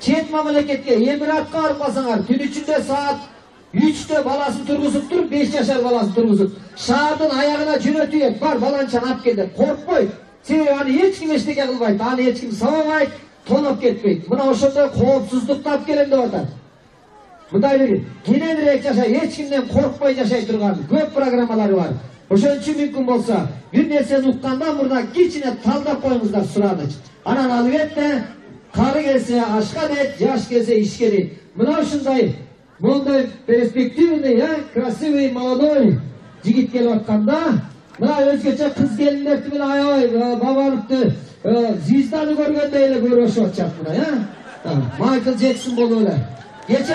Чет мамлекетке Эмиратка барып калсаңар, түн ичинде саат 3'te баласын тургузуп туруп, 5 жашар баласын тургузуп, шаардын аягына жөнөтүп, бар баланчаны алып кел деп коркпойт. Себеби аны эч ким эчтеке кылбайт, аны эч ким сабабайт, тоноп кетпейт. Мына ошондой коопсуздукту алып келем деп атат. мындай бир кененирээк жашай, эч кимден коркпой жашай турган көп программалары бар. Ошон үчүн мүмкүн болсо бир нерсени уккандан мурда кичине талдап коюңуздар сураныч. Анан албетте кары келсе ашка дейт, жаш келсе ишке дейт. Мына ушундай мондай перспективный, красивый, молодой жигит келип атканда, мына өзгөчө кыз келиндерди менен аябай Бабановду звезданы көргөндөй эле көрүшүп атышат мына, Майкл Джексон болуп эле. Кече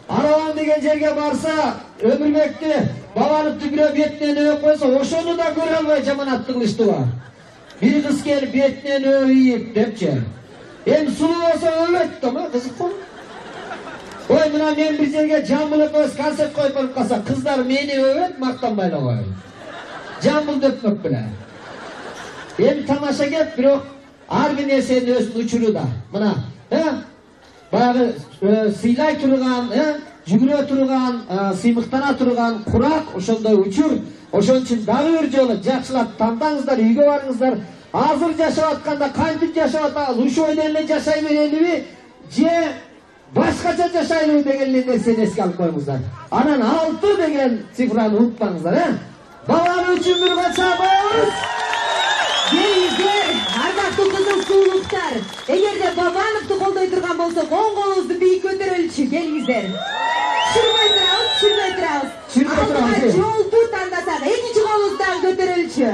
Араван деген жерге барса, Өмүрбекти Бабановду бирөө бетинен өөп койсо, ошону да көрө албай жаманатты кылыштыбы. Бир кыз келип бетинен өөйүп депчи. Эми сулуу болсо өлөт да, кызыкпы? Ой, мына мен бир жерге Жамбыл өз концерт коюп барып калса, кыздар мени өөбөт, мактанбай эле коет. Жамбыл өпмөк беле. Эми тамаша кеп, бирок ар бир нерсенин өзүнүн учуру да. Мына, баягы сыйлай турган, жүгүрө турган, сыймыктана турган курак, ошондой учур. Ошон үчүн дагы бир жолу жакшылап тандаңыздар, үйгө барыңыздар. Азыр жашап атканда кантип жашап атабыз? Ушойдон эле жашай берелиби? Же башкача жашайлыбы деген нерсени эске алып коюңуздар. Анан 6 деген цифраны унутпаңыздар, Бабан үчүн бир кача коебуз. Келиңиздер, ардактуу кызыл суулуктар. Эгерде Бабановду колдой турган болсок, оң колубузду бийик көтөрөлүчү. Келиңиздер. Түшүрбөй турабыз. Жолду тандасак, экинчи колубузду дагы көтөрөлүчү.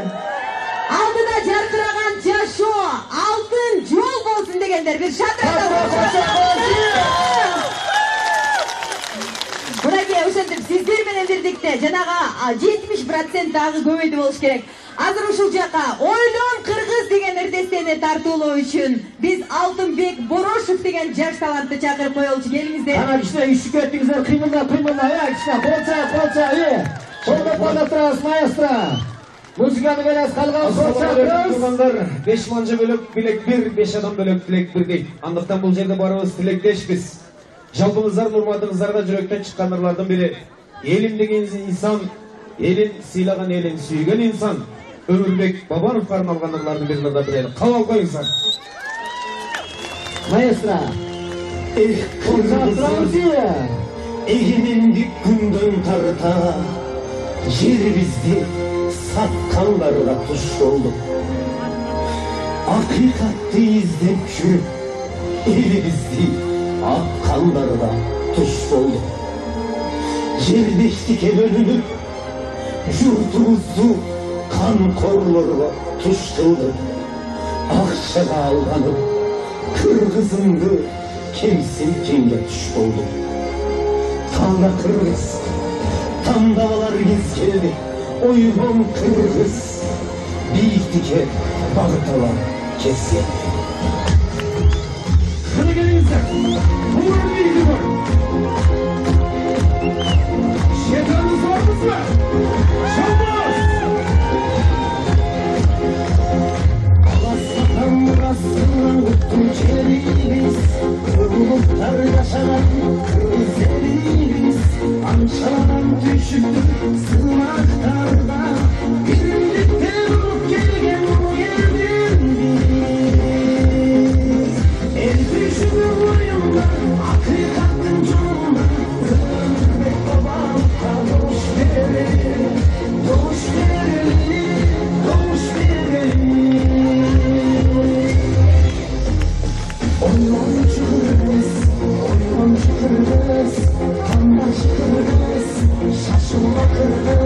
Алдыда жаркыраган жашоо, алтын жол болсун дегендер. Бир Мынакей, ошентип сиздер менен бирдикте жанага 70% дагы көбөйдү болуш керек. Азыр ушул жака Ойлон Кыргыз деген эрдестени тартуулоо үчүн биз Алтынбек Борошев деген жаш талантты чакырып коелучу. Келиңиздер. Ана кичине үшүп кеттиңиздер, кыймылдап, кичине болча, Колдоп турабыз, маэстро. Музыканы беребиз, калган тургандар 5 манжа бөлөк билек 1, 5 адам бөлөк тилек 1 дейт. Андыктан бул жерде барыбыз тилектешпиз. Жалпыңыздар, урматыңыздарга жүрөктөн чыккан ырлардын бири. Элим деген инсан, элин сыйлаган, элин сүйгөн инсан. Өмүрбек Бабановго арналган ырлардын бирин да билели. Кабыл коюңуздар. Маэстро. Эгемендик күндөн тарта жерибизди саткандарга туш болдук. Акыйкатты издеп жүрүп элибизди аккандарга туш болдук. Жердештикке бөлүнүп журтубузду канкорлорго туш кылдык. Акчага алганып кыргызымды кемсинткенге туш болдук. Таңда кыргыз, тандабалар кез келди. Ойлон кыргыз, бийиктикке багыт алар кез келди. Кана келиңиздер, булар бийиги бар. Жетамыз бармызбы? Шабас! Аласатан мурасынан өттүн жерибиз, улуттар жашаган кыргыз элибиз. Анчадан түшүптү сынактарда, биримдиктен уруп келген бул элден биз. Эл түшүнү боюнда, акыйкаттын жолунда, Өмүрбек Бабановго добуш берели, добуш берели, добуш берели. Ойлончу кыргыз, тандаш кыргыз, шашылма кыргыз.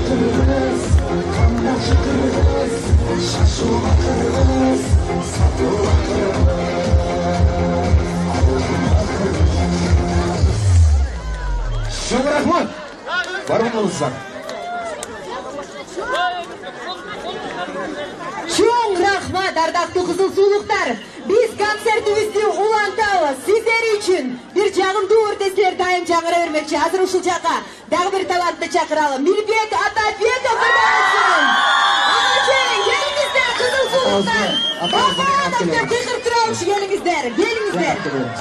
кыргыз, камбоч кыргыз, шашуга кыргыз, сатууга кыргыз. Çok rahmat. Барыңыздар. Чоң рахмат, ардактуу кызыл суулуктар. Биз концертибизди улантабыз. Сиздер үчүн бир жагымдуу өртеслер дайым жаңыра бермекчи. Азыр ушул жака дагы бир талантты чакыралы. Мирбек Атабеков кырдасын. Анан келиңиздер кызыл суулуктар. Бабанов деп кыйкырып турабыз, келиңиздер. Келиңиздер.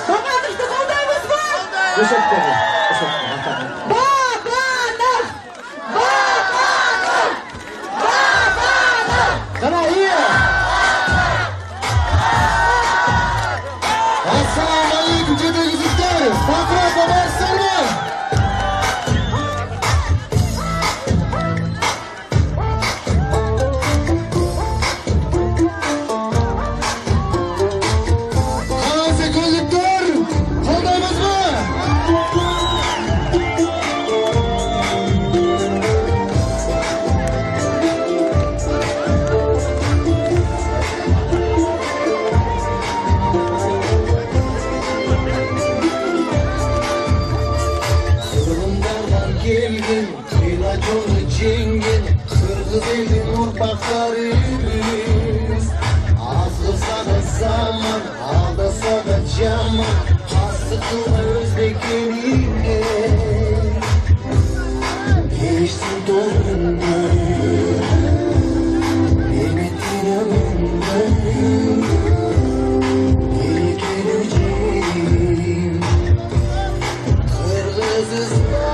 Бабановду колдойбузбу? Бабанов! Бабанов! Бабанов! Qana iyi. Assalomu alaykum jadagizlar. Bakrata barsalma. Hozir ko'ziklar, qo'ldaymizmi? Gelgin, ilacını cengin, kırgız elin urpaklarıyız. Azlısa da zaman, aldasa da caman, hastıkla özbek eline. Geçtim doğrunda, beni tiramında, geri geleceğim. Kırgızistan,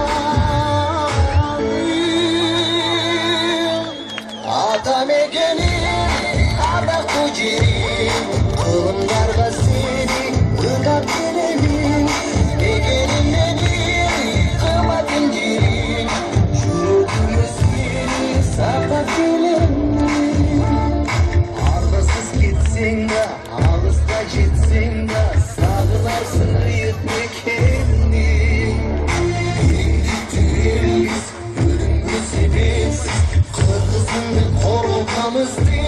atam egenim, arda kucirim, kılımlarga seni ırgat gelemin, egenim benim, kıymatim cirim, yürüdüğümü seni sakat gelemin. Argasız gitsin de, ağızda gitsin de, sağılarsın yetme kendini. Birlikteyiz, ölümlü sebepsiz, kırgızın ve korkamız değil.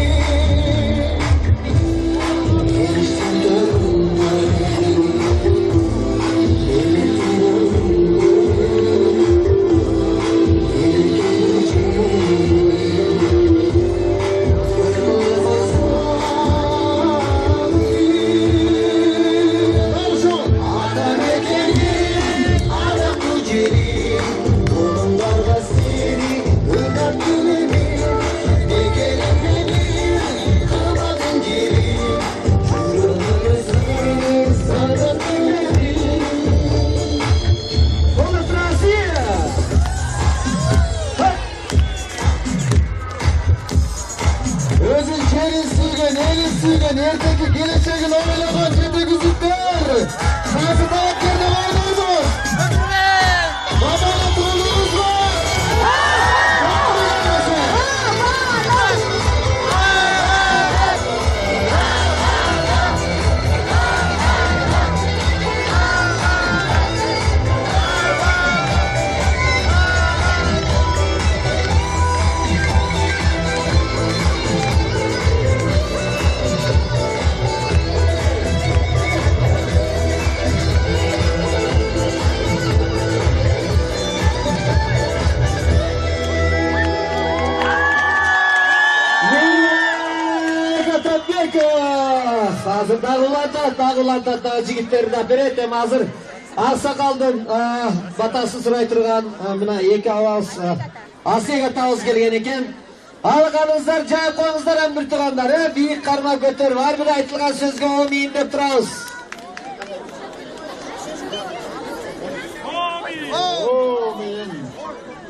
Geliştim dönümlerim, Konus Rossiya. Özün kerin suygan, elin suygan, erteki geleceğin oylagan jadagizlar. Nasıl tavakkerde vardınız? Babana tuğulunuz var. Hazır dağılanda jigitlerdi beretem hazır. Аксакалдын батасы сурай турган мына эки абаз асек атабыз келген экен. Алганыңыздар жайып коюңуздар амбир туугандар, бийик карма көтөрүп ар бир айтылган сөзгө амин деп турабыз.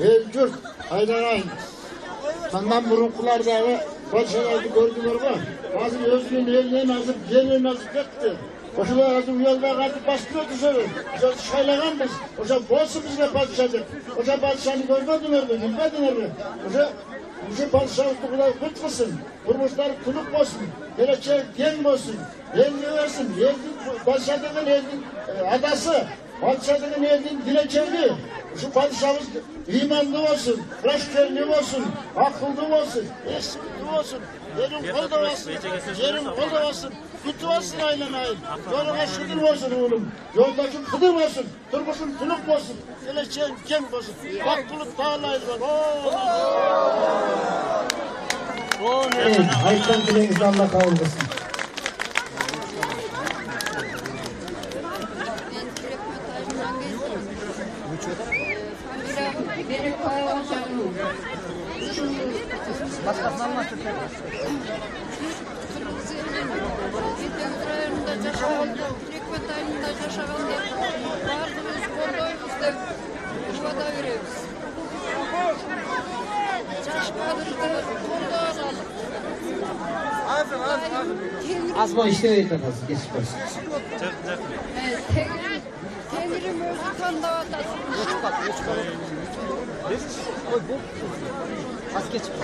El jurt aylanayın. Sandan burunkular dağı Başaraydı gördüler mi? Azır özgün elinden azır gelin azır gitti. Oşalar azır uyalda katıp bastırıyor dışarı. Oşa şaylaganbız. Oşa bolsun bizge padişahdır. Oşa padişahını görmediler mi? Bilmediler mi? Oşa padişahlıkta kadar kıtmasın. Kurmuşlar kuluk olsun. Gelecek gen olsun. El versin. Eldin padişah denen eldin adası. Padişah деген elin dilekçeli. Şu padişahımız imanlı olsun, raşkerli olsun, akıllı olsun, esirli olsun. Yerin kolda olsun, yerin kolda olsun. Gütü olsun aynen ayın. Yoluna şükür olsun oğlum. Yoldaki kıdır olsun, turmuşun tuluk olsun. Geleceğin cenk olsun. Hakkılık dağlayın var. Evet, aytkan dileğinizi Allah kabul etsin. Benim paylaşanım. Başkasına anlattı. Жетеуіз районында жашағанды, Түрекпет айылында жашағанды бардығымыз қолдаймыз деп жуада береміз. Жаш кадрды қолдап алып. Азма иштебейт атасы, кесип койсун. Теңирим өзү тандап атат. Az geçip.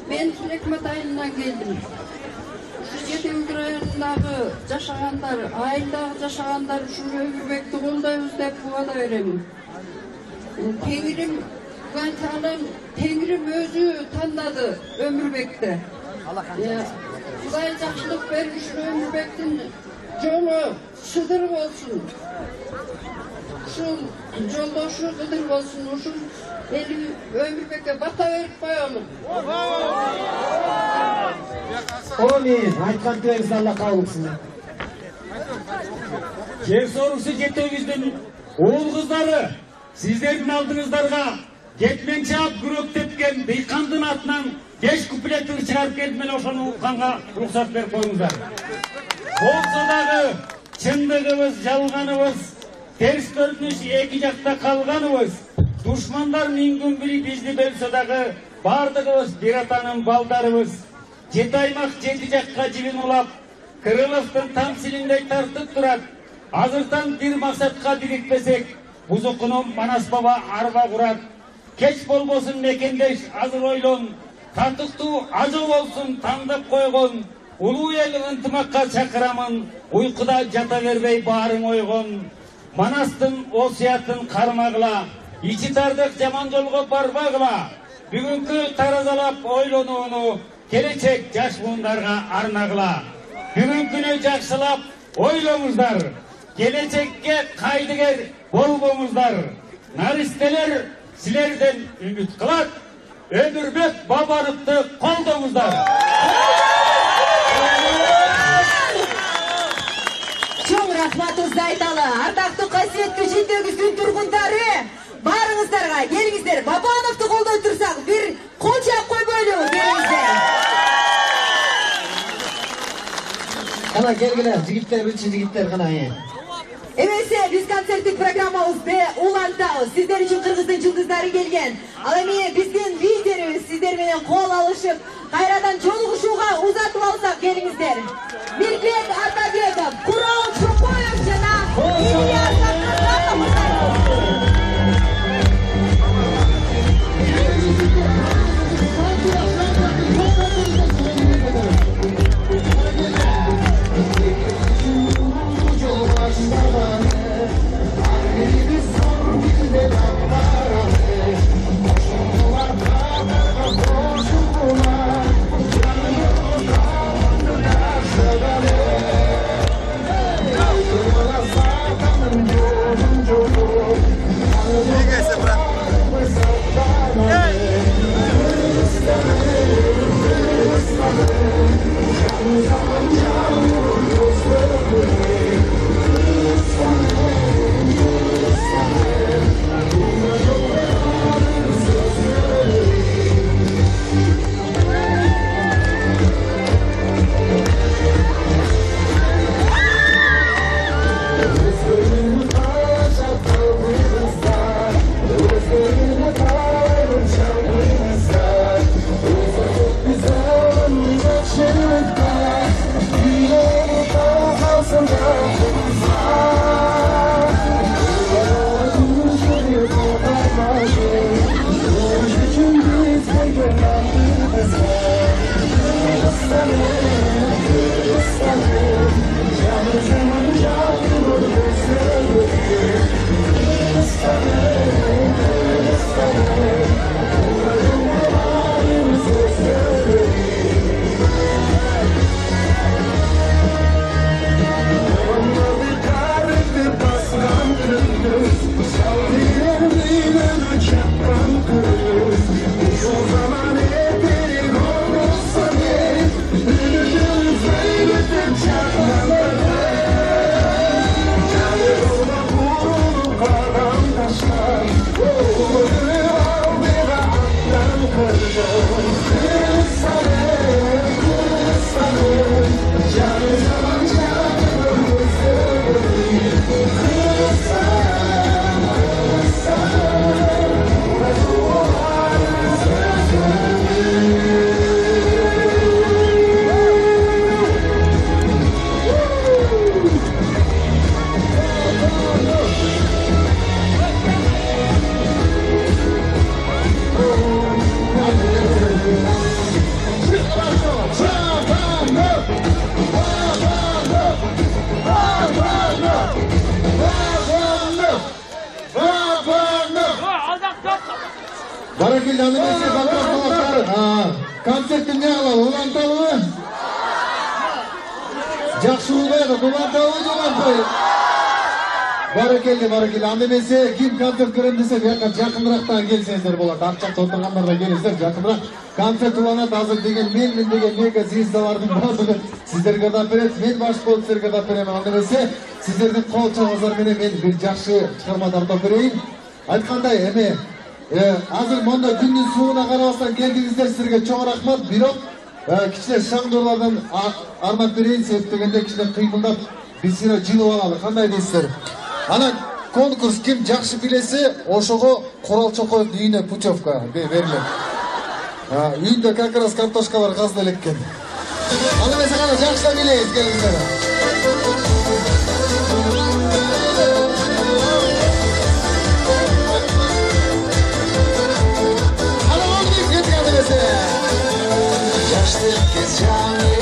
Ben Türekmet ayından geldim. Şu Жетеуіз районундағы жашагандар, айылдағы жашагандар ушул Өмүрбекти колдойбуз деп убада беремин. Теңирим Канталым, Теңирим өзү тандады Өмүрбекти. Кудай жакшылык беришин Өмүрбектин жолу шыдыр болсун. Ушул жолдошу шыдыр болсун. Ушул эли Өмүрбекке бата берип коелу. Amin. Aytkan dileğinizi Allah kabul etsin. Жер сорусу жетеуиздин уул кыздары сиздердин алдыңыздарга кетмен чаап күрөк тепкен дыйкандын атынан 5 куплет ыр чыгарып келип мен ошону укканга уруксат берип коюңуздар. Болсо дагы чындыгыбыз, жалганыбыз, терс көрүнүш эки жакта калганыбыз, душмандар мингün бири бизди бөлсө дагы бардыгыбыз бир атанын балдарыбыз. Жети аймак жети жакка жибин улап, Кырыловдун тамсилиндей тартып турат. Азыртан бир максатка бирикпесек, бузукунун Манас баба арба курат. Кеч болбосун мекендеш азыр ойлон, татыктуу ажо болсун тандап койгон. Улуу эл ынтымакка чакырамын, уйкуда жата бербей баарың ойгон. Манастын осуятын кармагыла, ичи тардык жаман жолго барбагыла. Бүгүнкү таразалап ойлонууну келечек жаш буундарга арнагыла. Бүгүнкүнү жакшылап ойлоңуздар. Келечекке кайдыгер болбоңуздар. Наристелер силерден үмүт кылат. Өмүрбек Бабановду колдоңуздар. Чоң рахматыңызды айталы. Ардактуу касиеттүү Жетеуиздин тургундары, баарыңыздарга келиңиздер. Бабановду колдой турсак, бир кол чаап койбойлу, келиңиздер. Кана келгиле, жигиттер, биринчи жигиттер кана. Эмесе биз концерттик программабызды улантабыз. Сиздер үчүн Кыргыздын жылдыздары келген. Ал эми биздин лидерибиз сиздер менен кол алышып, кайрадан жолугушууга узатып алсак, келиңиздер. Мирбек Атабеков, Курал Чокоев жана Ильяс Баракелде аны эмесе бактар. Концертти эмне кылалы? Уланталыбы? Жакшы улбайбы? Уланталыбы же улантпайбы? Баракелде, аны эмесе ким концерт көрөм десе, бияка жакынырактан келсеңиздер болот. Акчакта отургандар да келиңиздер, жакыныраак. Концерт уланат азыр деген мен деген мега звездалардын баардыгы сиздерге дап берет. Мен баш болуп сиздерге дап берем. Аны эмесе сиздердин кол чабыңыздар менен мен бир жакшы чыгарма тартып берейин. Айткандай эме азыр монда күндүн сууна карабастан келдиңиздер, силерге чоң рахмат. Бирок кичине шаңдоолордон арнап берейин, себеп дегенде кичине кыймылдап биз силер жылып алалы. Кандай дейсиздер? Ана конкурс ким жакшы билесе, ошого Курал Чокоевдун үйүнө путевка берилет. Үйүндө как раз картошкалар казды элек экен. Аны эмесе кана жакшылап билебиз, келиңиздер. Аны болду, кеткен эмесе. Жаштык кез жаңы